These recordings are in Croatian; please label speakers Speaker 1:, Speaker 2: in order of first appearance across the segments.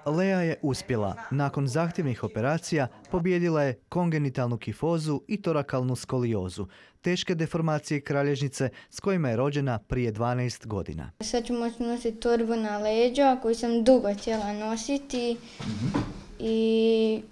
Speaker 1: Lea je uspjela. Nakon zahtjevnih operacija pobijedila je kongenitalnu kifozu i torakalnu skoliozu, teške deformacije kralježnice s kojima je rođena prije 12 godina.
Speaker 2: Sad ću moći nositi torbu na leđa koju sam dugo htjela nositi i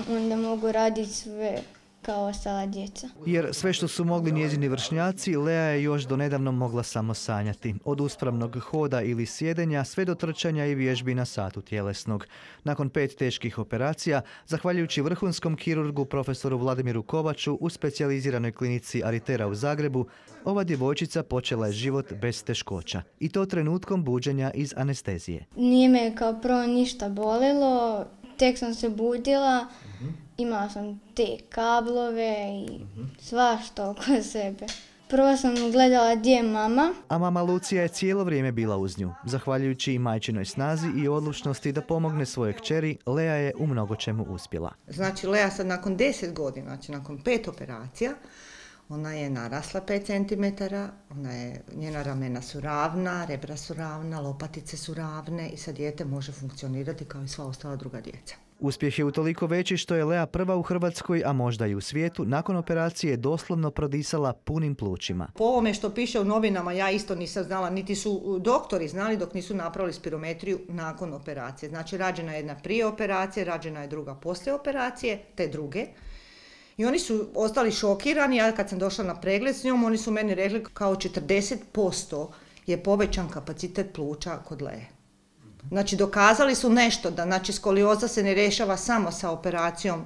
Speaker 2: onda mogu raditi sve kao ostala djeca.
Speaker 1: Jer sve što su mogli njezini vršnjaci, Lea je još donedavno mogla samo sanjati. Od uspravnog hoda ili sjedenja sve do trčanja i vježbi na satu tjelesnog. Nakon 5 teških operacija, zahvaljujući vrhunskom kirurgu profesoru Vladimiru Kovaču u specijaliziranoj klinici Aritera u Zagrebu, ova djevojčica počela je život bez teškoća. I to trenutkom buđenja iz anestezije.
Speaker 2: Nije me kao prvo ništa bolilo, tek sam se budila. Imala sam te kablove i svašta oko sebe. Prvo sam gledala gdje je mama.
Speaker 1: A mama Lucija je cijelo vrijeme bila uz nju. Zahvaljujući i majčinoj snazi i odlučnosti da pomogne svojoj kćeri, Lea je u mnogo čemu uspjela.
Speaker 3: Znači, Lea sad nakon 10 godina, znači nakon 5 operacija, ona je narasla 5 cm, njena ramena su ravna, rebra su ravna, lopatice su ravne i sad dijete može funkcionirati kao i sva ostala druga djeca.
Speaker 1: Uspjeh je utoliko veći što je Lea prva u Hrvatskoj, a možda i u svijetu, nakon operacije doslovno prodisala punim plućima.
Speaker 3: Po ovome što piše u novinama, ja isto nisam znala, niti su doktori znali dok nisu napravili spirometriju nakon operacije. Znači, rađena je jedna prije operacije, rađena je druga poslije operacije, te druge. I oni su ostali šokirani, ja kad sam došla na pregled s njom, oni su meni rekli kao 40% je povećan kapacitet pluća kod Lee. Znači, dokazali su nešto, da znači skolioza se ne rješava samo sa operacijom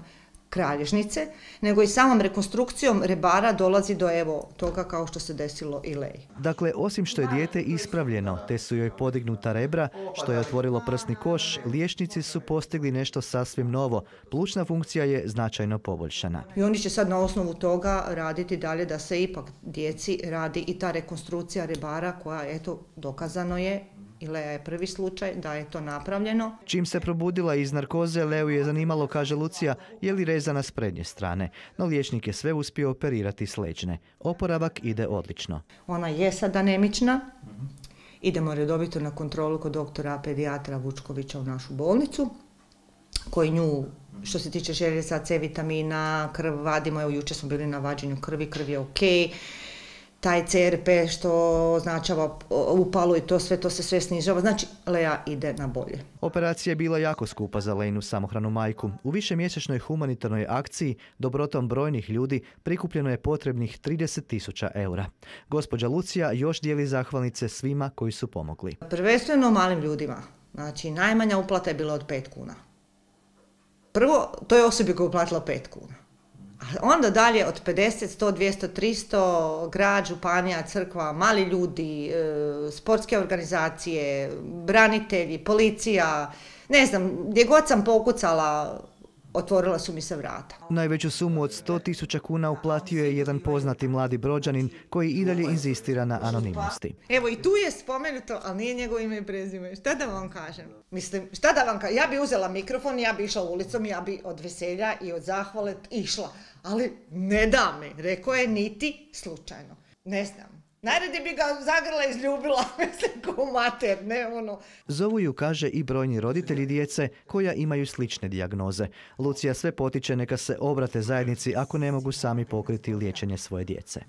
Speaker 3: kralježnice, nego i samom rekonstrukcijom rebara dolazi do toga kao što se desilo i Leji.
Speaker 1: Dakle, osim što je dijete ispravljeno, te su joj podignuta rebra, što je otvorilo prsni koš, liječnici su postigli nešto sasvim novo. Plućna funkcija je značajno poboljšana.
Speaker 3: I oni će sad na osnovu toga raditi dalje da se ipak djeci radi i ta rekonstrukcija rebara koja, eto, dokazano je, i Lea je prvi slučaj da je to napravljeno.
Speaker 1: Čim se probudila iz narkoze, Leu je zanimalo, kaže Lucija, je li rezana s prednje strane. No liječnik je sve uspio operirati s leđne. Oporavak ide odlično.
Speaker 3: Ona je sad anemična. Idemo redovito na kontrolu kod doktora pedijatra Vučkovića u našu bolnicu, koji nju, što se tiče željeza, C vitamina, krv vadimo. Evo, jučer smo bili na vađenju krvi, krv je ok. Taj CRP što označava upalu i to se sve snižava. Znači, Lea ide na bolje.
Speaker 1: Operacija je bila jako skupa za Leinu samohranu majku. U višemjesečnoj humanitarnoj akciji dobrotom brojnih ljudi prikupljeno je potrebnih 30.000 eura. Gospođa Lucija još dijeli zahvalnice svima koji su pomogli.
Speaker 3: Prvenstveno malim ljudima. Znači, najmanja uplata je bila od 5 kuna. Prvo, to je osobi koja je uplatila 5 kuna. Onda dalje od 50, 100, 200, 300, grad, županija, crkva, mali ljudi, sportske organizacije, branitelji, policija, ne znam, gdje god sam pokucala, otvorila su mi se vrata.
Speaker 1: Najveću sumu od 100.000 kuna uplatio je jedan poznati mladi Brođanin koji i dalje inzistira na anonimnosti.
Speaker 3: Evo, i tu je spomenuto, ali nije njegovo ime i prezime. Šta da vam kažem? Mislim, šta da vam kažem? Ja bi uzela mikrofon, ja bi išla ulicom, ja bi od veselja i od zahvale išla. Ali ne da mi, rekao je niti slučajno. Ne znam. Najradije bi ga zagrla i izljubila, mislim, ko mater, ne ono.
Speaker 1: Zovu ju, kaže, i brojni roditelji djece koja imaju slične dijagnoze. Lucija sve potiče neka se obrate zajednici ako ne mogu sami pokriti liječenje svoje djece.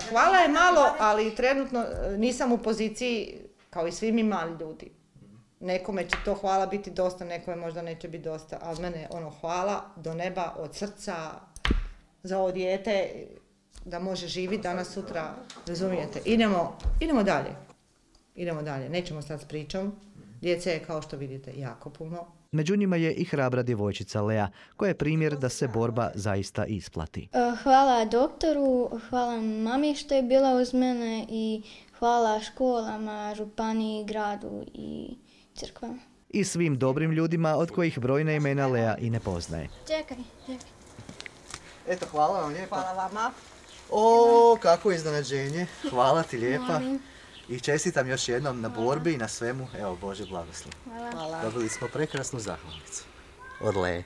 Speaker 3: Hvala je malo, ali trenutno nisam u poziciji kao i svi mi mali ljudi. Nekome će to hvala biti dosta, nekome možda neće biti dosta, a od mene hvala do neba, od srca za ovo dijete, da može živjeti danas, sutra, razumijete. Idemo dalje. Idemo dalje. Nećemo sad s pričom. Djece je, kao što vidite, jako puno.
Speaker 1: Među njima je i hrabra djevojčica Lea, koja je primjer da se borba zaista isplati.
Speaker 2: Hvala doktoru, hvala mami što je bila uz mene i hvala školama, županiji, gradu i crkvama.
Speaker 1: I svim dobrim ljudima od kojih brojna imena Lea i ne poznaje.
Speaker 2: Čekaj.
Speaker 1: Eto, hvala vam lijepa.
Speaker 3: Hvala vama.
Speaker 1: O, kako iznenađenje. Hvala ti lijepa. I čestitam još jednom na borbi i na svemu. Evo, Bože blagoslov.
Speaker 3: Hvala.
Speaker 1: Dobili smo prekrasnu zahvalnicu od Lee.